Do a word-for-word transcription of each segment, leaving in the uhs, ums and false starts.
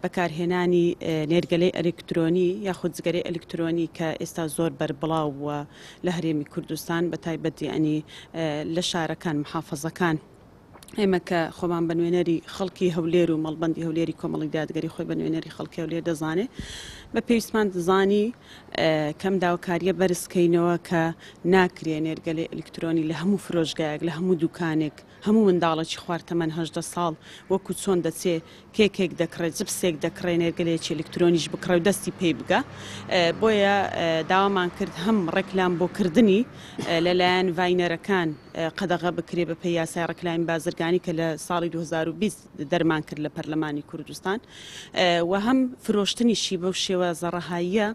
بەکارهێنانی نێرگەلەی ئەلکترۆنی یاخود جگەرەی ئەلکترۆنی کە ئێستا زۆر بەربڵاو بووە لە هەرێمی کوردستان، بە تایبەت یعنی لە شارەکان، محافەزەکان. ئێمە کە خۆمان بە نوێنەری خەڵکی هەولێر و مەڵبەندی هەولێری کۆمەڵی دادگەری خۆی بە نوێنەری خەڵکی هەولێر دەزانێ، بە پێویستمان دەزانی کەم داواکاریە بەرزکەینەوە کە ناکرێ نێرگەلەی ئەلکترۆنی لە هەموو فرۆشگایەک، لە هەموو دوکانێک، هەموو منداڵێکی خوار تەمەن هەژدە ساڵ وەکو چۆن دەچێ کێکێک دەکڕێ، جپسێک دەکڕێ، نێرگەلەیەکی ئەلکترۆنیش بکڕێ و دەستی پێی بگە. بۆیە داوامان کرد هەم ڕێکلام بۆکردنی لەلایەن ڤاینەرەکان قەدەغە بکرێ بە پێی یاسای ڕێکلامی بازرگانی کە لە ساڵی دوو هەزار و بیست دەرمان کرد لە پەرلەمانی کوردستان، و هەم فرۆشتنیشی بەو شێوە زەڕەهاییە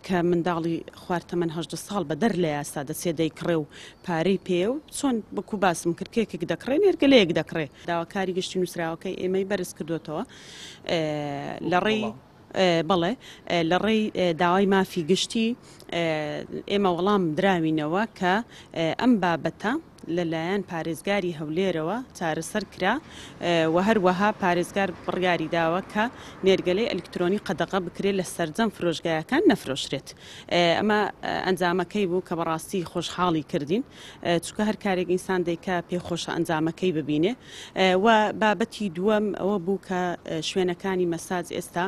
کە منداڵی خوار تەمەن هەژدە ساڵ بە دەر لە یاسا دەچێ دەیکڕێ و پارەی پێیە و چۆن وەکو باسم کرد کێکێک دەکڕێ، نێرگەلەیەک دەکڕێ. داواکاری گشتی نووسراوەکەی ئێمەی بەرز کردوێتەوە لە ڕێی بەڵێ لە ڕێی داوای مافی گشتی ئێمە وەڵام دراوینەوە کە ئەم بابەتە لەلایەن پارێزگاری هەولێرەوە چارەسەر کرا و هەروەها پارێزگار بڕیاری داوە کە نێرگەلەی ئەلکترۆنی قەدەغە بکرێت لە سەرجەم فرۆشگایەکان نەفرۆشرێت. ئەمە ئەنجامەکەی بوو کە بەڕاستی خۆشحاڵی کردین، چونکە هەر کارێک ئینسان دەیکا پێخۆشە ئەنجامەکەی ببینێ. و بابەتی دووەم ئەوە بوو کە شوێنەکانی مەساج ئێستا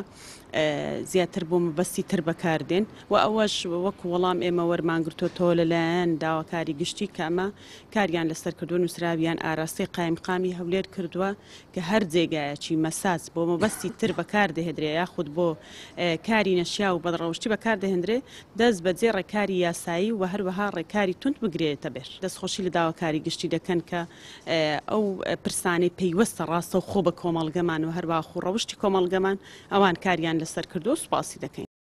زیاتر بۆ مەبەستی تر بەکاردێن و ئەوەش وەکو وەڵام ئێمە وەرمانگرتووەتەوە لەلایەن داواکاری گشتی کە ئەمە کاریان لەسەر کردووە، نووسراویان ئاراستەی قایمقامی هەولێر کردووە کە هەر جێگایەکی مەساج بۆ مەبەستی تر بەکاردەهێنرێ یاخود بۆ کاری نەشیا و بەدڕەوشتی بەکاردەهێنرێ دەست بەجێ ڕێکاری یاسایی و هەروەها ڕێکاری توند بگرێتە بێر. دەستخۆشی لە داواکاری گشتی دەکەن کە ئەو پرسانەی پەیوەستە ڕاستەوخۆ بە کۆمەڵگەمان و هەروەها خۆڕەوشتی کۆمەڵگەمان ئەوان کاریان لەسەر کردووە، سوپاسی دەکەین.